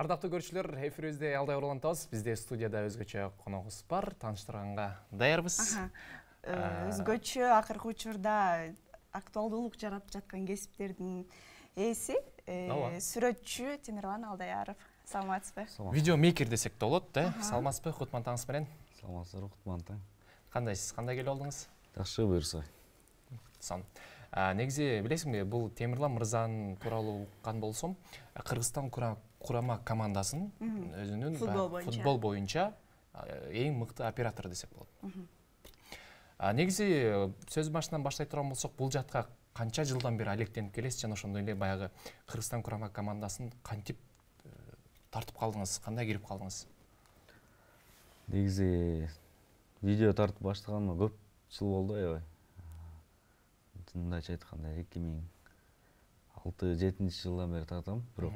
Ардактуу көрүүчүлөр, эфирибизде Алдай Орлантабыз. Бизде студияда өзгөчө коногубуз бар. Тааныштырганга даярбыз. Өзгөчө акыркы учурда актуалдуулук жаратып жаткан кесиптердин ээси, сүрөтчү Темирлан Алдаяров. Саламатсызбы? Видеомейкер десек да болот, саламатсызбы? Кутмантаңыз менен. Саламатсыздар, Кутмантаң. Кандайсыз? Кандай келип алдыңыз? Жакшы, буюрса. Сон. Негизи билесиңби, бул Темирлан мырзанын тууралуу уккан болсом, Кыргызстан курама командасын өзүнүн футбол боюнча эң мыкты оператор десек болот. Негизи сөз башынан баштай турган болсок, бул жакка канча жылдан бери алектенип келесиз жана ошондой эле баягы Кыргызстан курама командасын кантип тартып калдыңыз, кандай кирип калдыңыз? Негизи видео тартып баштаганыма көп жыл болду, аябай. Мындайча айтканда 2006-2007 жылдан бери тартам, бирок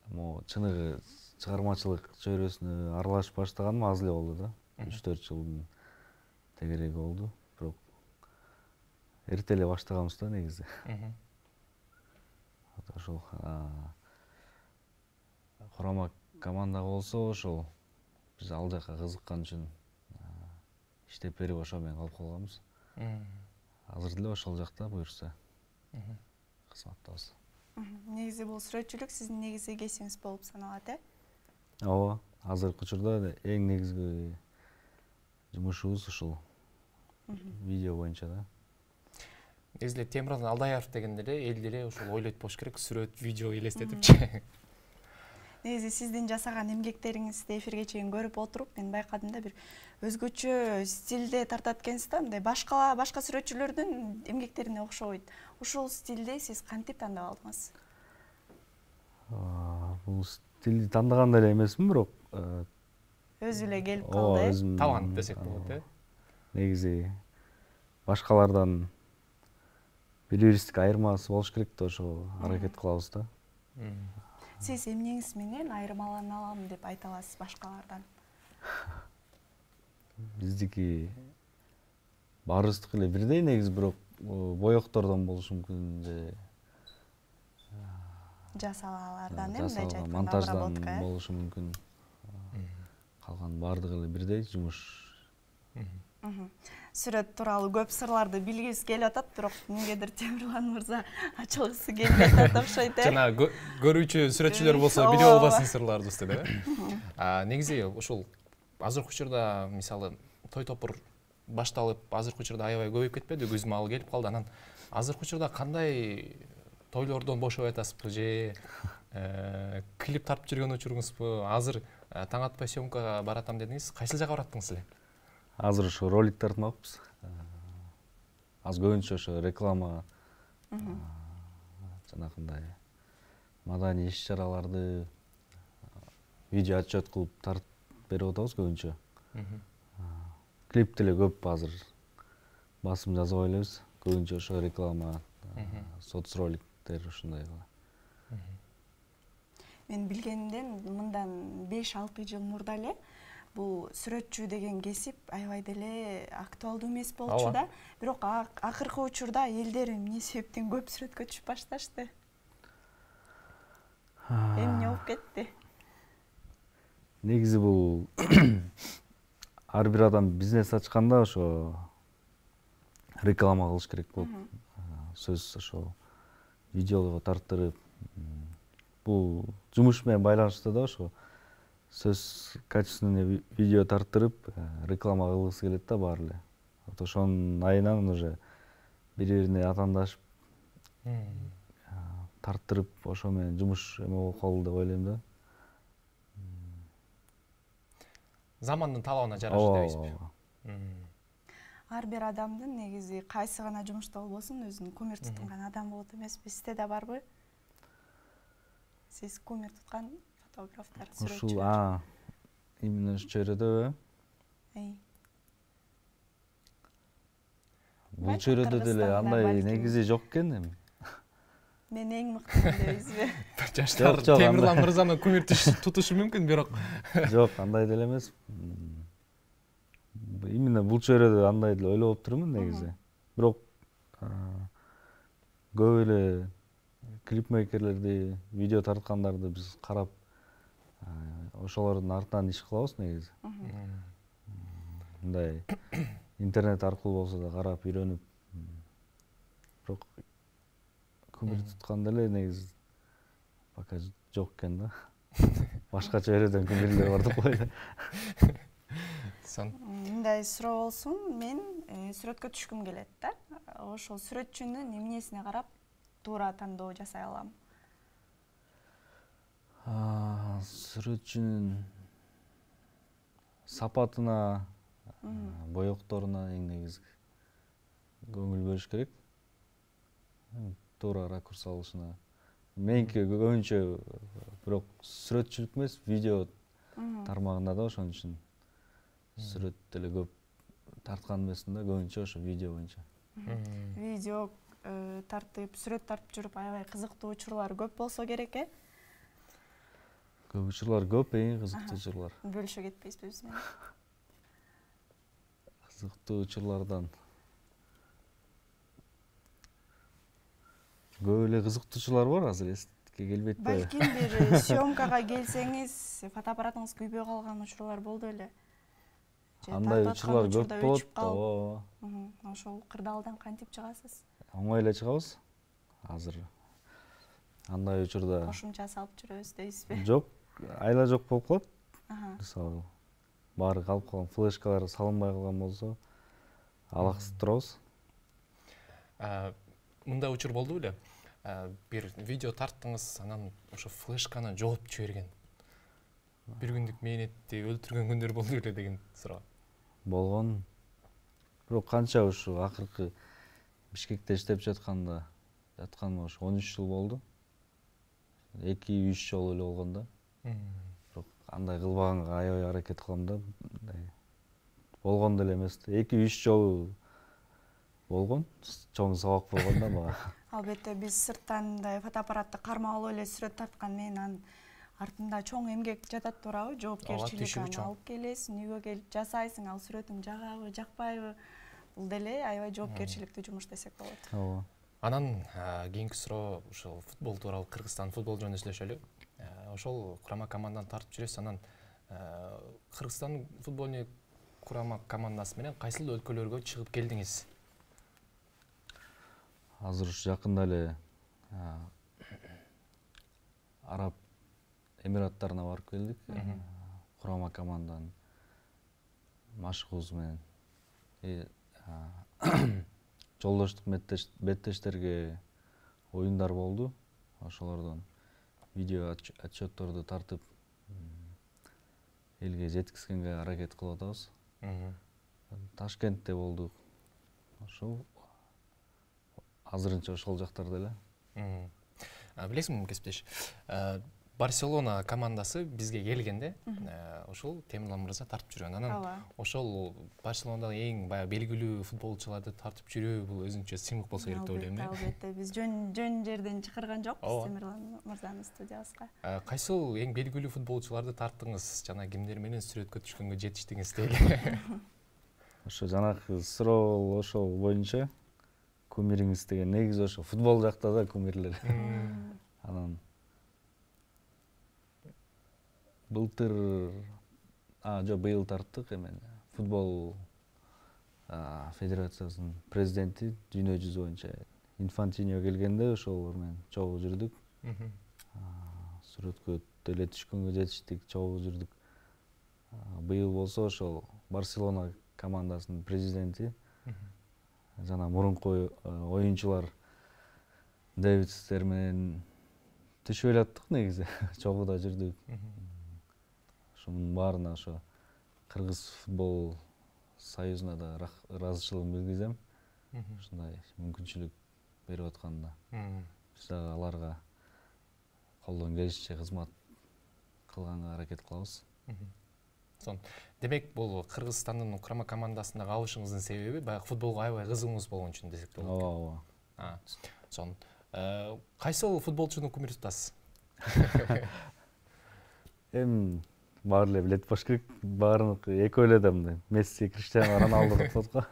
могу чыныгы чыгармачылык чөйрөсүнө аралашып баштаганым аз эле болду да. 3-4 жылдын тегереги болду, бирок эрте эле баштаганбыз да негизи. Ошол курама командага болсо, ошол биз ал жакка кызыккан үчүн иштеп берип ошо менен калып калганбыз. Азыр деле ошол жакта буюрса кызматтабыз. Негизи бул сүрөтчүлүк сиздин негизги кесибиңиз болуп саналат, Ооба, азыркы учурда эң негизги жумушубуз ушул видео боюнча да. Негизи эле Темирлан Алдаяров дегенде эле эл деле ошол ойлойт болуш керек, сүрөт, видео элестетипчи. Негизи сиздин жасаган эмгектериңизди эфирге чейин көрүп отуруп, мен байкадым да, бир өзгөчө стилде тартат экенсиз да, мындай башка сүрөтчүлөрдүн эмгектерине окшобойт. Ушул стилди сиз кантип тандап алдыңыз? Бул стилди тандаган эле эмесмин, бирок өзү эле келип калды. Талант десек болот, Негизи башкалардан билбестик айырмасы болуш керек да, ошого аракет кылабыз да. Сиз эмнеңиз менен айырмалана алам деп айта аласыз башкалардан? Биздики баарыбыздыкы эле бирдей негизи, бирок боектордон болушу мүмкүн же жасалгалардан, мындайча айтканда, монтаждан болушу мүмкүн. Калган баардыгы эле бирдей жумуш. Сүрөт тууралуу көп сырларды билгибиз келип атат, бирок эмнегедир Темирлан мырза ачылгысы келбей атат окшойт, Жана көрүүчү сүрөтчүлөр болсо билип албасын сырларыбызды деп. Негизи ушул азыркы учурда мисалы той топур башталып, азыркы учурда аябай көбөйүп кетпеди, күз маалы келип калды. Анан азыркы учурда кандай тойлордон бошобой атасызбы же клип тартып жүргөн учуруңузбу? Азыр таң атпай съемкага баратам дедиңиз, кайсыл жака бараттыңыз эле? Азыр ошо ролик тартмакпыз. Аз көбүнчө ошо реклама, жанакындай маданий иш-чараларды видео отчет кылып тартып берип атабыз көбүнчө. Клип деле көп азыр басым жазбай элебиз. Көбүнчө ошо реклама, соцроликтер ушундай. Мен билгенимден мындан 5-6 жыл мурда эле бул сүрөтчү деген кесип аябай деле актуалдуу эмес болчу да. Бирок акыркы учурда элдер эмне себептен көп сүрөткө түшүп башташты? Эмне болуп кетти? Негизи бул ар бир адам бизнес ачканда ошо реклама кылыш керек болуп, сөз ошо видеого тарттырып, бул жумуш менен байланыштуу да, ошо сөз качественный видео тарттырып, реклама кылгысы келет да баары эле. Ошонун айынан уже бири-бирине атаандашып, тарттырып, ошо менен жумуш эме болуп калды деп ойлойм да. Замандын талабына жараша дебейсизби? Ар бир адамдын негизи кайсы гана жумушта болбосун өзүнүн кумир тутунган адам болот эмеспи? Сизде да барбы? Сиз кумир туткан фотографтар, сүрөтчүлөр. Именно ушу чөйрөдө. Бул чөйрөдө деле андай негизи жок экен эми. Мен эң мыктымын дебейсизби? Жаштар Темирлан мырзаны кумир тутушу мүмкүн, бирок жок, андай деле эмес. Именно бул чөйрөдө андай деле ойлоп турмун негизи. Бирок көп эле клипмейкерлерди, видео тарткандарды биз карап ошолордун артынан иш кылабыз негизи. Мындай интернет аркылуу болсо да карап үйрөнүп, бирок күмүр тутканда эле негизи пока жок экен да. Башкача эреден күмүрлөр бар деп коелу. Мындай суроо болсун, мен сүрөткө түшкүм келет да. Ошол сүрөтчүнүн эмнесине карап туура тандоо жасай алам? Сүрөтчүнүн сапатына, боекторуна эң негизги көңүл бөлүш керек. Туура ракурс алышына. Меники көбүнчө бирок сүрөтчүлүк эмес, видео тармагында да, ошон үчүн сүрөт деле көп тарткан эмесмин да, көбүнчө ошо видео боюнча. Видео тартып, сүрөт тартып жүрүп аябай кызыктуу учурлар көп болсо керек э? Көп учурлар көп, эң кызыктуу учурлар. Бөлүшө кетпейсизби биз менен? Кызыктуу учурлардан көп эле кызыктуучулар бар, азыр эске келбейт да. Балким бир съемкага келсеңиз, фотоаппаратыңыз күйбөй калган учурлар болду беле? Андай учурлар көп болот. Ооба. Ошол кырдаалдан кантип чыгасыз? Оңой эле чыгабыз. Азыр андай учурда кошумча салып жүрөбүз дейсизби? Жок, айла жок болуп калат. Мисалы, баары калып калган флешкалар салынбай калган болсо, алаксып турабыз. Мындай учур болду беле? Бир видео тарттыңыз, анан ошо флешканы жооп жиберген. Бир күндүк мээнетти өлтүргөн күндөр болду беле деген суроо. Болгон. Бирок канча ушу акыркы Бишкекте иштеп жатканыма ошо 13 жыл болду. 2-3 жолу эле болгон да. Бирок андай кылбаганга аябай аракет кылам да. Болгон деле эмес. 2-3 жолу болгон. Чоң сабак болгон да мага. Албетте биз сырттан мындай фотоаппаратты кармап алып эле сүрөт тарткан менен анын артында чоң эмгек жатат туурабы? Жоопкерчилик алып келесиң, үйгө келип жасайсың, ал сүрөтүң жагабы, жакпайбы? Бул деле аябай жоопкерчиликтүү жумуш десек болот. Ооба. Анан кийинки суроо ушул футбол тууралуу, Кыргызстан футбол жөнүндө сүйлөшөлү. Ошол курама команданы тартып жүрөсүз, анан Кыргызстан футбольный курама командасы менен кайсыл өлкөлөргө чыгып келдиңиз? Азыр ушу жакында эле Араб Эмираттарына барып келдик. Курама команданын машыгуусу менен. Жолдоштук беттештерге оюндар болду. Ошолордон видео отчетторду тартып элге жеткизгенге аракет кылып атабыз. Ташкентте болдук. Ошол азырынча ошол жактарда эле. Билесиңби, кесиптеш, Барселона командасы бизге келгенде ошол Темирлан мырза тартып жүргөн. Анан ошол Барселонадагы эң баягы белгилүү футболчуларды тартып жүрүү бул өзүнчө сыймык болсо керек деп ойлойм. Албетте, биз жөн жерден чакырган жокпуз Темирлан мырзаны студиябызга. Кайсыл эң белгилүү футболчуларды тарттыңыз? Жана кимдер менен сүрөткө түшкөнгө жетиштиңиз дейли? Ошо жанакы суроо ошол боюнча кумириңиз деген негизи ошо футбол жакта да кумирлер. Анан былтыр быйыл тарттык эмен футбол федерациясынын президенти дүйнө жүзү боюнча Инфантино келгенде ошол менен чогуу жүрдүк. Сүрөткө деле түшкөнгө жетиштик, чогуу жүрдүк. Быйыл болсо ошол Барселона командасынын президенти жана мурунку оюнчулар Дэвидстер менен түшүп элаттык негизи, чогуу да жүрдүк. Ошонун баарына ошо Кыргыз футбол союзуна да ыраазычылыгымды билгизем. Ушундай мүмкүнчүлүк берип атканына. Биз дагы аларга колдон келишинче кызмат кылганга аракет кылабыз. Демек, бул Кыргызстандын курама командасындагы алышыңыздын себеби баягы футболго аябай кызыгыңыз болгон үчүн десек болот. Ооба. Сон, кайсыл футболчуну кумир тутасыз? Эми баары эле билет болуш керек. Баарыныкы экөө эле да мындай Месси, Криштиану Роналду деп коет го.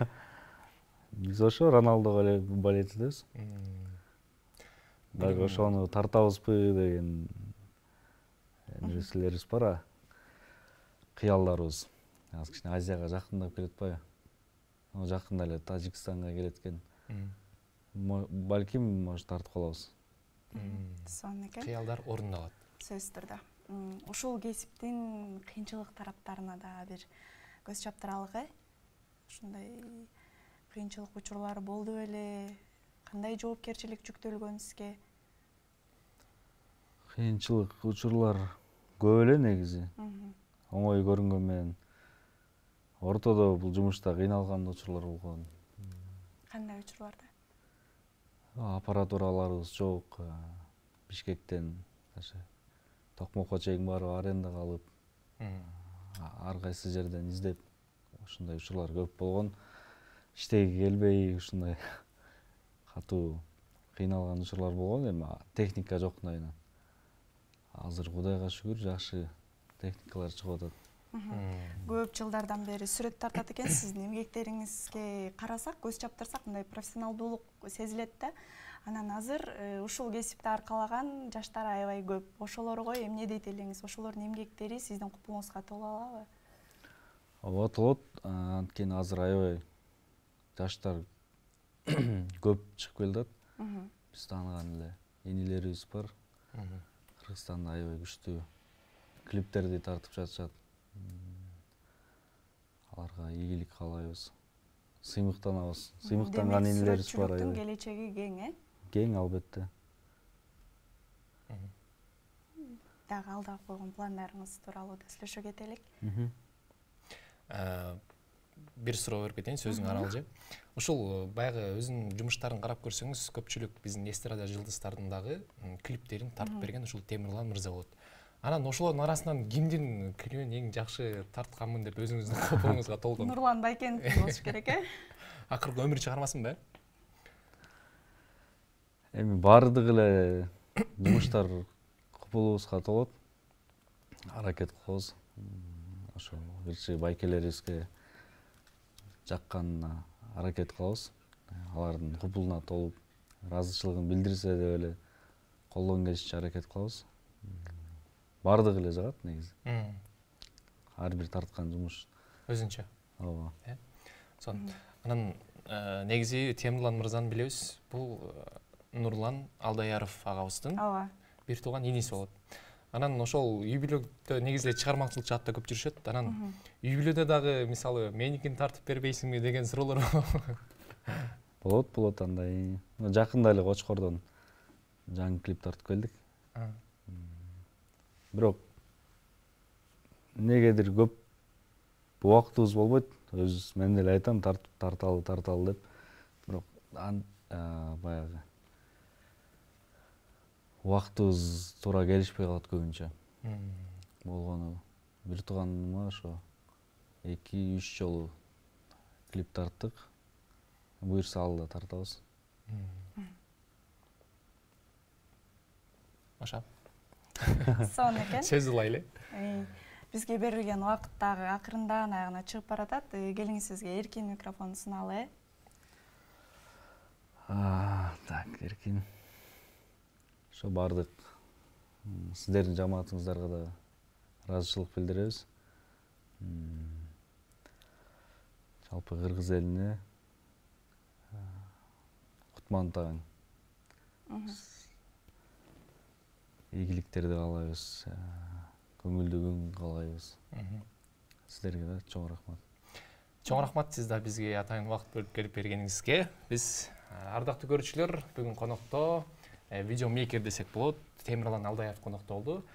Биз ошо Роналдого эле болеть этебиз. Дагы ошону тартабызбы деген нерселерибиз бар, кыялдарыбыз. Азыр кичине Азияга жакындап келет атпайбы? Жакында эле Тажикстанга келет экен. Балким может тартып калабыз. Сонун экен. Кыялдар орундалат. Сөзсүз түрдө. Ушул кесиптин кыйынчылык тараптарына да бир көз чаптыралык, ушундай кыйынчылык учурлары болду беле? Кандай жоопкерчилик жүктөлгөн сизге? Кыйынчылык учурлар көп эле негизи. Оңой көрүнгөн менен ортодо бул жумушта кыйналган учурлар болгон. Кандай учурларда? Аппаратураларыбыз жок. Бишкектен Токмокко чейин барып арендага алып, ар кайсы жерден издеп, ушундай учурлар көп болгон. Иштеги келбей, ушундай катуу кыйналган учурлар болгон. Эми техника жок мындайынан. Азыр Кудайга шүгүр жакшы техникалар чыгып атат. Көп жылдардан бери сүрөт тартат экенсиз. Сиздин эмгектериңизге карасак, көз чаптырсак, мындай профессионалдуулук сезилет да. Анан азыр ушул кесипти аркалаган жаштар аябай көп. Ошолорго эмне дейт элеңиз? Ошолордун эмгектери сиздин купуңузга толо алабы? Ооба, толот. Анткени азыр аябай жаштар көп чыгып келатат. Биз тааныган эле энилерибиз бар. Кыргызстанда аябай күчтүү клиптерди тартып жатышат. Аларга ийгилик каалайбыз. Сыймыктанабыз. Сыймыктанган энилерибиз бар. Демек, келечеги кең, Кең, албетте. Дагы алдап койгон пландарыңыз тууралуу да сүйлөшө кетелик. Бир суроо берип кетейин, сөзүң аралжы. Ушул баягы өзүнүн жумуштарын карап көрсөңүз, көпчүлүк биздин эстрада жылдыздардын дагы клиптерин тартып берген ушул Темирлан мырза болот. Анан ошолордун арасынан кимдин клибин эң жакшы тартканмын деп өзүңүздүн копуңузга толгон? Нурлан Байкенов болуш керек, Акыркы өмүр чыгармасынбы? Эми баардык эле жумуштар купулубузга толот. Аракет кылабыз. Ошо бирчи байкелерибизге жакканына аракет кылабыз. Алардын купулуна толуп, ыраазычылыгын билдирсе деп эле колдон келишинче аракет кылабыз. Баардык эле жагат негизи. Ар бир тарткан жумуш Өзүнчө. Ооба. Сонун. Анан негизи Темирлан мырзаны билебиз. Бул Нурлан Алдаяров агабыздын бир тууган иниси болот. Анан ошол үй бүлөдө негизи чыгармачылык жаатта көп жүрүшөт. Анан үй бүлөдө дагы мисалы меникин тартып бербейсиңби деген суроолор болот андай. Жакында эле Кочкордон жаңы клип тартып келдик. Бирок негедир көп убактыбыз болбойт. Мен эле айтам, тарталы деп. Бирок баягы убактыбыз туура келишпей калат көбүнчө. Болгону бир тууганыма ошо 2-3 жолу клип тарттык. Буйрса ал да тартабыз. Ошо. Сонун экен. Сөз улайлы. Бизге берилген убакыт дагы акырындан аягына чыгып баратат. Келиңиз, сизге эркин микрофон суналы. Так, эркин. Ошо бардык сиздердин жамаатыңыздарга да ыраазычылык билдиребиз. Жалпы кыргыз элине Кутман ийгиликтерди каалайбыз, көңүлдүү күн каалайбыз. Сиздерге да чоң рахмат. Чоң рахмат сиз да бизге атайын убакыт бөлүп келип бергениңизге. Биз ардактуу көрүүчүлөр, бүгүн конокто видеомейкер десек болот, Темирлан Алдаяров конокто болду.